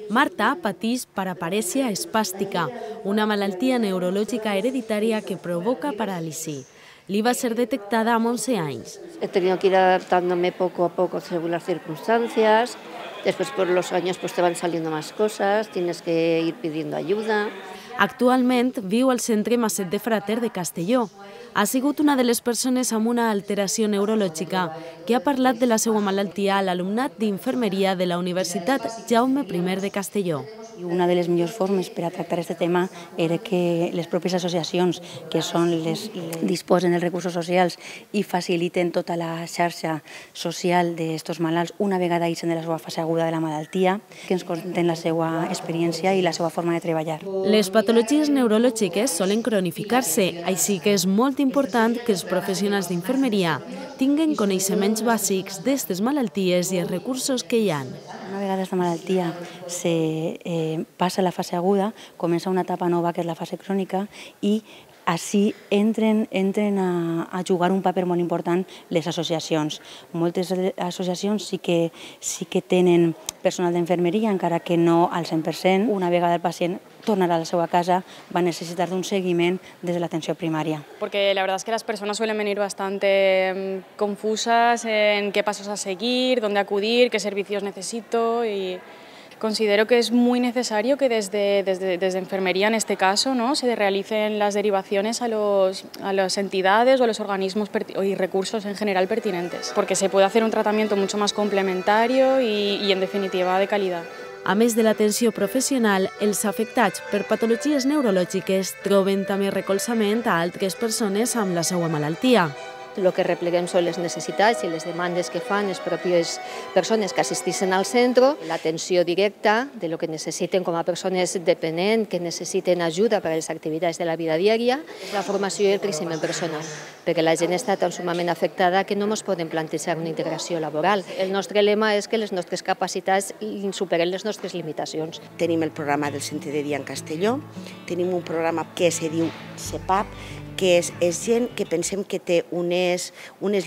Marta pateix paraparèsia espàstica, una malaltia neurològica hereditària que provoca paràlisi. Li va ser detectada amb 11 anys. He tenido que ir adaptándome poco a poco según las circunstancias. Después por los años te van saliendo más cosas, tienes que ir pidiendo ayuda. Actualment viu al Centre Maset de Frater de Castelló. Ha sigut una de les persones amb una alteració neurològica que ha parlat de la seva malaltia a l'alumnat d'infermeria de la Universitat Jaume I de Castelló. Una de les millors formes per a tractar aquest tema era que les pròpies associacions, que disposen dels recursos socials i faciliten tota la xarxa social d'aquests malalts, una vegada ixen de la seva fase aguda de la malaltia, que ens conten la seva experiència i la seva forma de treballar. Les patologies neurològiques solen cronificar-se, així que és molt important que els professionals d'infermeria tinguen coneixements bàsics d'aquestes malalties i els recursos que hi ha. Una vegada aquesta malaltia passa a la fase aguda, comença una etapa nova que és la fase crònica i així entren a jugar un paper molt important les associacions. Moltes associacions sí que tenen personal d'infermeria, encara que no al 100%. Una vegada el pacient tornarà a la seva casa, va necessitar d'un seguiment des de l'atenció primària. Porque la verdad es que las personas suelen venir bastante confusas en qué pasos a seguir, dónde acudir, qué servicios necesito y considero que es muy necesario que desde enfermería, en este caso, se realicen las derivaciones a las entidades o a los organismos y recursos en general pertinentes, porque se puede hacer un tratamiento mucho más complementario y en definitiva, de calidad. A més de l'atenció professional, els afectats per patologies neurològiques troben també recolzament a altres persones amb la seva malaltia. El que repleguem són les necessitats i les demandes que fan les pròpies persones que assisteixen al centre, l'atenció directa de lo que necessiten com a persones dependents que necessiten ajuda per a les activitats de la vida diària, la formació i el creixement personal, perquè la gent està tan sumament afectada que no ens podem plantejar una integració laboral. El nostre lema és que les nostres capacitats superen les nostres limitacions. Tenim el programa del Centre de Dia en Castelló, tenim un programa que se diu CEPAP, que és gent que pensem que té unes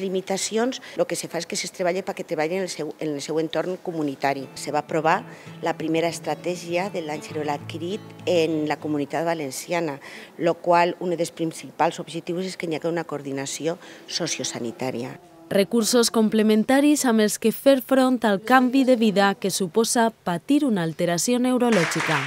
limitacions. El que se fa és que es treballa perquè treballen en el seu entorn comunitari. Se va aprovar la primera estratègia de l'Àngelo adquirit en la Comunitat Valenciana, el qual un dels principals objectius és que hi hagi una coordinació sociosanitària. Recursos complementaris amb els que fer front al canvi de vida que suposa patir una alteració neurològica.